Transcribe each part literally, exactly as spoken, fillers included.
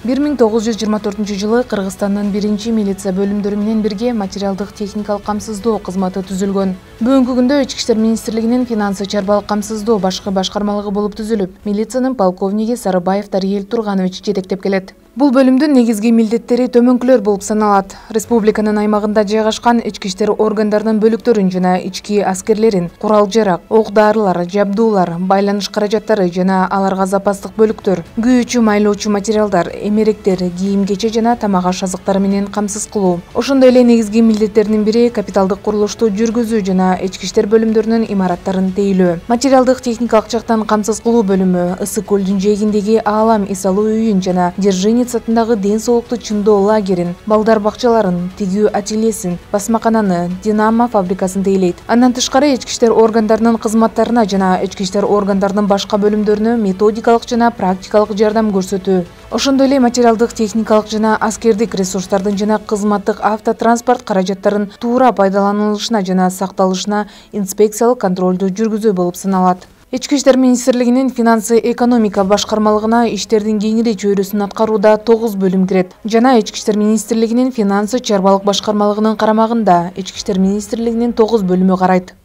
бир миң тогуз жүз жыйырма төртүнчү жылы Кыргызстандын биринчи милиция бөлүмдөрү менен бирге материалдык техникалык камсыздоо кызматы түзүлгөн. Бүгүнкү күндө Ички иштер министрлигинин финансы чарбалык камсыздоо башкы башкармалыгы болуп түзүлүп, милициянын полковниги Сарыбаев Дариел Турганович жетектеп келет. Бул бөлүмдүн негизги милдеттери төмөнкүлөр болуп саналат. Республиканын аймагында жайгашкан ички иштер органдарынын бөлүктөрүн жана ички аскерлерин, курал-жарак, ок-дарылар, жабдуулар, байланыш каражаттары жана аларга запастык бөлүктөр, күйүүчү майлоочу материалдар, эмеректер, кийим-кече жана тамак-аш азыктары менен камсыз кылуу. Ошондой эле негизги милдеттеринин бири капиталдык курулушту жүргүзүү жана ички иштер бөлүмдөрүнүн имараттарын тейлөө. Материалдык техникалык жактан камсыз кылуу бөлүмү Ысык көлдүн жээгиндеги Аалам эс алуу үйүн жана Держинец атындагы ден соолукту чыңдоо лагерин, балдар бакчаларын, тигүү ательесин, басмакананы, Динамо фабрикасын тейлейт. Андан тышкары ички иштер органдарынын кызматтарына жана ички иштер органдарынын башка бөлүмдөрүнө методикалык жана практикалык жардам көрсөтүү. Ошондой эле материалдык техникалык жана аскердик ресурстардын жана кызматтык автотранспорт каражаттарын туура пайдаланылышына жана сакталышына инспекциялык контролду жүргүзүү болуп саналат. Ички иштер министрлигинин финансы экономика башкармалыгына иштердин кеңири чөйрөсүн аткарууда тогуз бөлүм кирет. Жана ички иштер министрлигинин финансы чарбалык башкармалыгынын карамагында ички иштер министрлигинин тогуз бөлүмү карайт.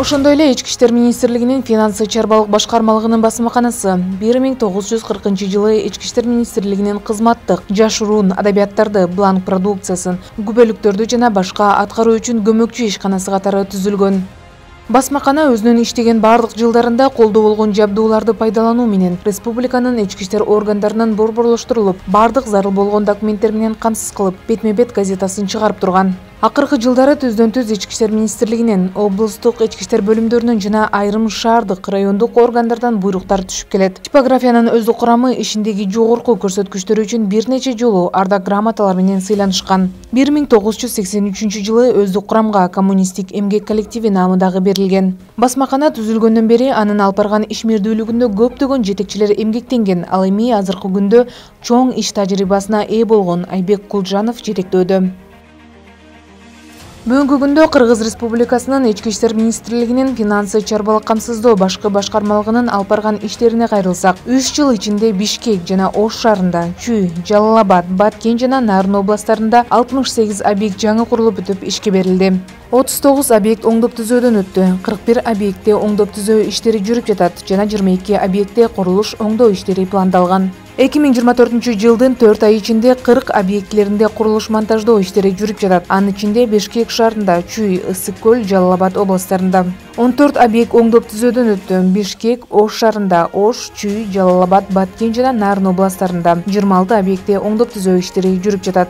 Ошондой эле ички иштер министрлигинин финансы чарбалык башкармалыгынын басмаканасы бир миң тогуз жүз кыркынчы жылы ички иштер министрлигинин кызматтык, жашыруун адабияттарды, бланк продукциясын, күбөлүктөрдү жана башка аткаруу үчүн көмөкчү ишканасы катары түзүлгөн. Басмакана өзүнүн иштеген бардык жылдарында колдо болгон жабдууларды пайдалануу менен республиканын ички иштер органдарынын борборлоштурулуп, бардык зарыл болгон документтер менен камсыз кылып, бетме-бет газетасын чыгарып турган. Акыркы жылдары түздөн-түз ички иштер министрлигинин, облустук ички иштер бөлүмдөрүнүн жана айрым шаардык, райондук органдардан буйруктар түшүп келет. Типографиянын өздүк курамы ишиндеги жогорку көрсөткүчтөрү үчүн бир нече жолу ардак грамоталар менен сыйланышкан. бир миң тогуз жүз сексен үчүнчү жылы өздүк курамга коммунисттик эмгек коллективи наамындагы берилген. Басмакана түзүлгөндөн бери анын алып барган ишмердүүлүгүндө көптөгөн жетекчилер эмгектенген, ал эми азыркы күндө чоң иш тажрыйбасына ээ болгон Айбек Кулжанов жетектөөдө. Бүгүнкү күндө Кыргыз Республикасынын ички иштер министрлигинин финансы чарбалык камсыздоо башкы башкармалыгынын алып барган иштерине кайрылсак, үч жыл ичинде Бишкек жана Ош шаарында, Чүй, Жалал Абад, Баткен жана Нарын областтарында алтымыш сегиз объект жаңы курулуп бүтүп ишке берилди. отуз тогуз объект оңдоп түзөөдөн өттү, кырк бир объектте оңдоп түзөө иштери жүрүп жатат жана жыйырма эки объектте курулуш оңдоо иштери пландалган. эки миң жыйырма төртүнчү жылдын төрт ай ичинде кырк объектилеринде курулуш монтаждоо иштери жүрүп жатат. Анын ичинде Бишкек шаарында, Чүй, Ысык көл, Жалал Абад областтарында. он төрт объект оңдоп түзөөдөн өттү. Бишкек, Ош шаарында, Ош, Чүй, Жалал Абад, Баткен жана Нарын областтарында. жыйырма алты объектте оңдоп түзөө иштери жүрүп жатат.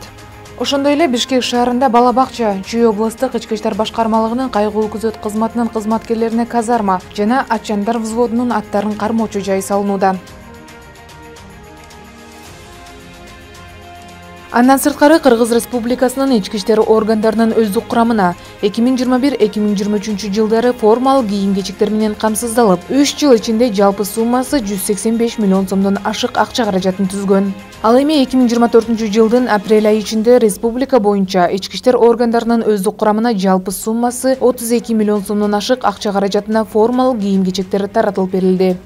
Ошондой эле Бишкек шаарында бала бакча, Чүй областык ички иштер башкармалыгынын кайгылуу күзөт кызматынын кызматкерлерине казарма жана Ачандар взводунун аттарын кармоочу жай салынууда. Андан сырткары Кыргыз Республикасынын ички иштер органдарынын өздүк курамына эки миң жыйырма бир эки миң жыйырма үчүнчү жылдары формалык кийим-кечектер менен камсыздалып, үч жыл ичинде жалпы суммасы жүз сексен беш миллион сомдон ашык акча каражатын түзгөн. Ал эми эки миң жыйырма төртүнчү жылдын апрель айы ичинде республика боюнча ички иштер органдарынын өздүк курамына жалпы суммасы отуз эки миллион сомдон ашык акча каражатына формалык кийим-кечектер таратылып берилди.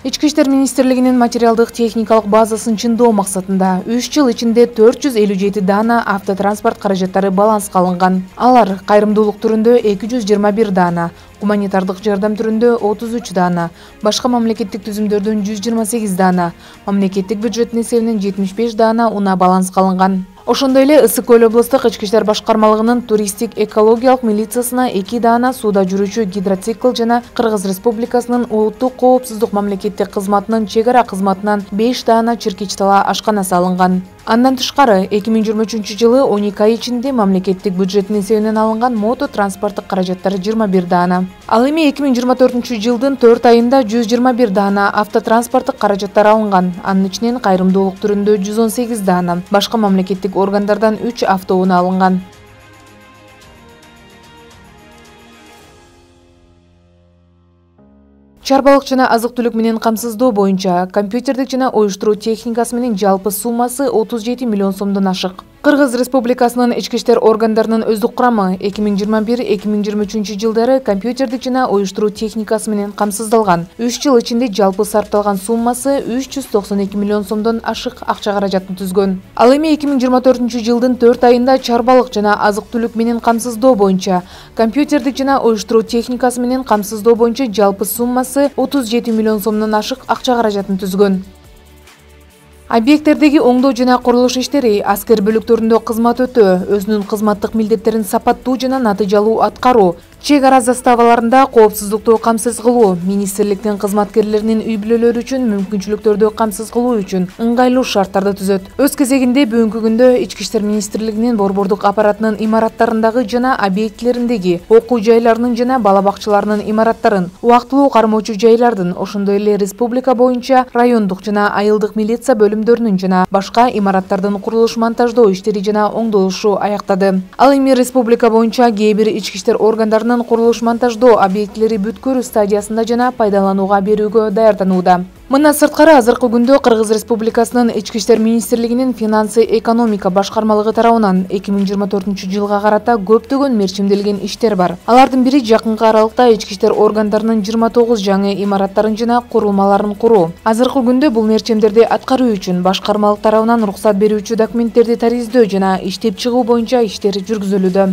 Ички иштер министрлигинин материалдык техникалык базасын чыңдоо максатында үч жыл ичинде төрт жүз элүү жети даана автотранспорт каражаттары баланска алынган. Алар кайрымдуулук түрүндө эки жүз жыйырма бир даана, гуманитардык жардам түрүндө отуз үч даана, башка мамлекеттик түзүмдөрдөн жүз жыйырма сегиз даана, мамлекеттик бюджеттин эсебинен жетимиш беш даана унаа баланска алынган. Ошондой эле Ысык көл облустук ички иштер башкармалыгынын туристтик экологиялык милициясына эки даана сууда жүрүүчү гидроцикл жана Кыргыз Республикасынын улуттук коопсуздук мамлекеттик кызматынын чек ара кызматынан беш даана чиркич тала ашканасы алынган. Андан тышкары эки миң жыйырма үчүнчү жылы он эки ай ичинде мамлекеттик бюджеттин эсебинен алынган мото транспорттук каражаттар жыйырма бир даана. Ал эми эки миң жыйырма төртүнчү жылдын төрт айында жүз жыйырма бир даана автотранспорттук каражаттар алынган. Анын ичинен кайрымдуулук түрүндө жүз он сегиз даана, башка мамлекеттик органдардан үч автоунаа алынган. Чарбалык жана азык-түлүк менен камсыздоо боюнча компьютердик жана уюштуруу техникасы менен жалпы суммасы отуз жети миллион сомдон ашык. Кыргыз Республикасынын ички иштер органдарынын өздүк курамы эки миң жыйырма бир эки миң жыйырма үчүнчү жылдары компьютердик жана уюштуруу техникасы менен камсыздалган. үч жыл ичинде жалпы сарпталган суммасы үч жүз токсон эки миллион сомдон ашык акча каражатын түзгөн. Ал эми эки миң жыйырма төртүнчү жылдын төрт айында чарбалык жана азык-түлүк менен камсыздоо боюнча, компьютердик жана уюштуруу техникасы менен камсыздоо боюнча жалпы суммасы отуз жети миллион сомдон ашык акча каражатын түзгөн. Объекттердеги оңдоо жана курулуш иштери, аскер бөлүктөрүндө кызмат өтөө, өзүнүн кызматтык милдеттерин сапаттуу жана натыйжалуу аткаруу, чек ара заставаларында коопсуздукту камсыз кылуу, министрликтин кызматкерлеринин үй бүлөлөрү үчүн мүмкүнчүлүктөрдү камсыз кылуу үчүн ыңгайлуу шарттарды түзөт. Өз кезегинде бүгүнкү күндө Ички иштер министрлигинин борбордук аппаратынын имараттарындагы жана объектилериндеги, окуу жайларынын жана бала бакчаларынын имараттарын, убактылуу кармоочу жайлардын, ошондой эле республика боюнча райондук жана айылдык милиция бөлүмдөрүнүн жана башка имараттардын курулуш монтаждоо иштери жана оңдолушу аяктады. Ал эми республика боюнча кээ бир ички иштер органдарынын курулуш монтаждоо объектилери бүткөрүү стадиясында жана пайдаланууга берүүгө даярданууда. Мындан сырткары азыркы күндө Кыргыз Республикасынын Ички иштер министрлигинин финансы экономика башкармалыгы тарабынан эки миң жыйырма төртүнчү жылга карата көптөгөн мерчимделген иштер бар. Алардын бири жакынкы аралыкта ички иштер органдарынын жыйырма тогуз жаңы имараттарын жана курулмаларын куруу. Азыркы күндө бул мерчимдерди аткаруу үчүн башкармалык тарабынан уруксат берүүчү документтерди тариздөө жана иштеп чыгуу боюнча иштер жүргүзүлүүдө.